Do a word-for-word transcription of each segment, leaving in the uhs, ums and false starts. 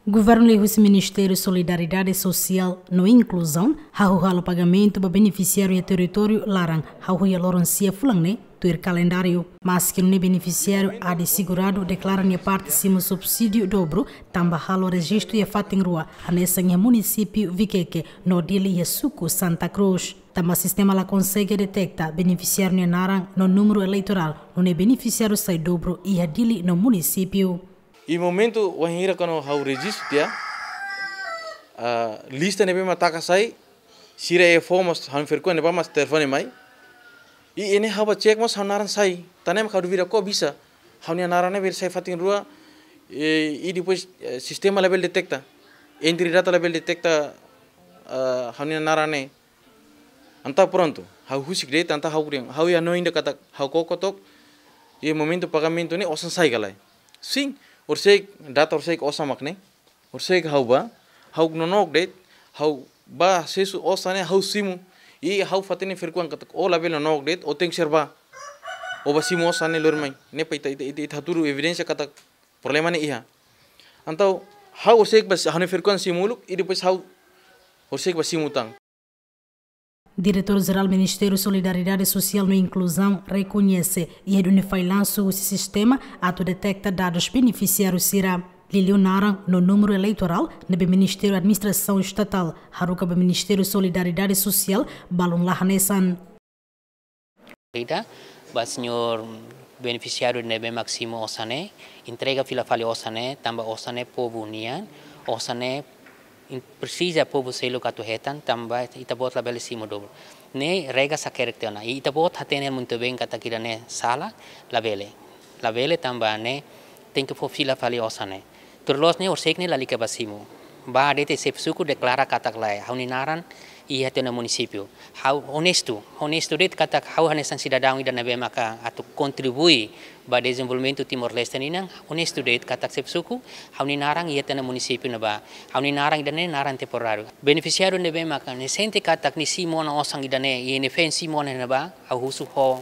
Governu liuhusi Ministériu Solidariedade Sosiál no Inkluzaun hahú halo pagamentu ba benefisiáriu iha territóriu laran hahú iha loron sia fulan ne'e tuir kalendáriu. Maski nune'e benefisiáriu Adi Seguradu deklara nia parte simu subsídiu dobru tanba halo rejistu iha fatin rua, hanesan iha munisípiu Viqueque no Dili iha suku Santa Cruz. Tanba sistema la konsege deteta benefisiáriu nia naran no númeru eleitorál, nune'e benefisiáriu sai dobru iha Dili no munisípiu. Iha momentu wainhira kuandu ha'u rejistu tiha, ah, lista ne'ebé mak taka sai, sira iha fó mós ha'u-nia verkuan ne'ebá mak telefone mai. I ne'e ha'u bá cek mós ha'u-nia naran sai. Tan ne'e mak ha'u duvida kok bisa ha'u-nia naran ne'e bele sai fatin rua, eh, i depois, eh, sistema labele deteta. Entry data labele deteta, ah, ha'u-nia naran ne'e. Entaun prontu, ha'u husik de'it, entaun ha'u krian, ha'u iha hanoin ida katak ha'u koko took, iha momentu pagamentu ne'e osan sai ka lae. Sin, horiseik, data horiseik osan mak ne'e, horiseik ha'u bá, ha'u nonook de'it, ha'u bá asesu osan ne'e ha'u simu, i ha'u fó tiha nia verkuan katak ó labele nonook de'it, ó tenke ser bá. Ó bá simu osan ne'e lori mai, ne'e para ita, ita, ita, ita hatudu evidénsia katak problema ne'e iha. Entaun, ha'u horiseik bá, ha'u-nia verkuan simu uluk, i depois ha'u horiseik bá simu tan. Diretór Jerál Ministériu Solidariedade Sosiál no Inkluzaun rekoñese iha duni fallansu husi sistema atu deteta dadus benefisiáriu sira. Liuliu naran no númeru eleitorál ne'ebé Ministériu Administrasaun Estatál haruka ba Ministériu Solidariedade Sosiál balun la hanesan. Ida, ba señór benefisiáriu ne'ebé mak simu osan ne'e, entrega fila fali osan ne'e, tanba osan ne'e povu nian, osan ne'e in-, presiza povu seluk atu hetan, tanba ita-boot labele simu dobru. Ne'e regra hakerek tiha ona. I ita-boot hatene muito bem katak ida-ne'e sala, labele. Labele tanba ne'e tenke fó fila fali osan ne'e. Tuir loos ne'e horiseik ne'e lalika bá simu. Bá de'it xefe suku deklara katak lae, ha'u-nia naran iha tiha ona munisípiu. Ha'u onestu, onestu de'it katak ha'u hanesan sidadaun ida ne'ebé maka atu kontribui ba dezenvolvimentu Timor-Leste nian, onestu de'it katak xefe suku, ha'u-nia naran iha tiha ona munisípiu ne'ebá. Ha'u-nia naran ida-ne'e naran temporáriu. Benefisiáriu ne'ebé maka ne'e sente katak nia simu ona osan ida-ne'e, i nia feen simu ona ne'ebá, ha'u husu ho,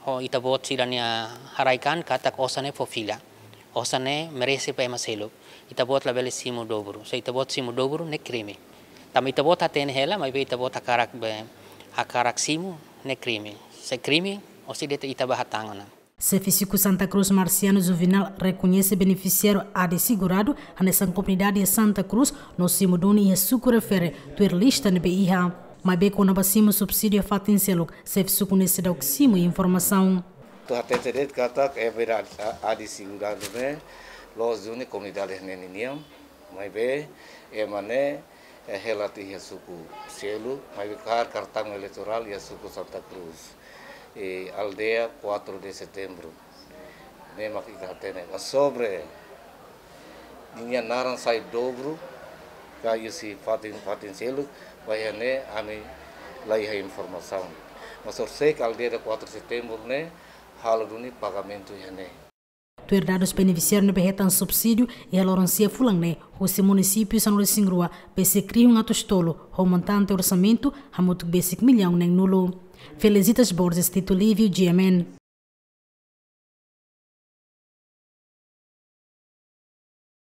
ho ita-boot sira-nia haraik-an katak osan ne'e fó fila. Osan ne'e merese ba ema seluk. Ita-boot labele simu dobru. Se ita-boot simu dobru, ne'e krime. Tanba ita-boot hatene hela, maibé ita-boot hakarak be, hakarak simu, ne'e krime. Se krime, horiseik de'it ita bá hatán ona. Xefe suku Santa Cruz Marciano Juvenal rekoñese benefisiáriu Adi Seguradu hanesan komunidade iha Santa Cruz no simu duni iha suku refere tuir lista ne'ebé iha. Maibé kona-ba simu subsídiu iha fatin seluk, xefe suku ne'e seidauk simu informasaun. Atu hatete de'it katak é verdade, a, Adi Seguradu ne'e loos duni komunidade ne'e ninian, maibé ema ne'e, eh, hela tiha iha suku seluk, maibé kaer kartaun eleitorál iha suku Santa Cruz, eh, aldeia quatro de Setembro. Ne'e mak ita hatene. Mas sobre ninia naran sai dobru ka husi fatin, fatin seluk, ba iha ne'e ami la iha informasaun. Mas horiseik aldeia quatro de Setembro ne'e halo duni pagamentu iha ne'e. Tuir dadus benefisiáriu ne'ebé hetan subsídiu iha loron sia fulan ne'e, husi munisípiu sanulu-resin-rua, besik rihun atus tolu, ho montante orsamentu hamutuk besik millaun neen-nulu. Felicitas Borges, Tito Livio, G M N.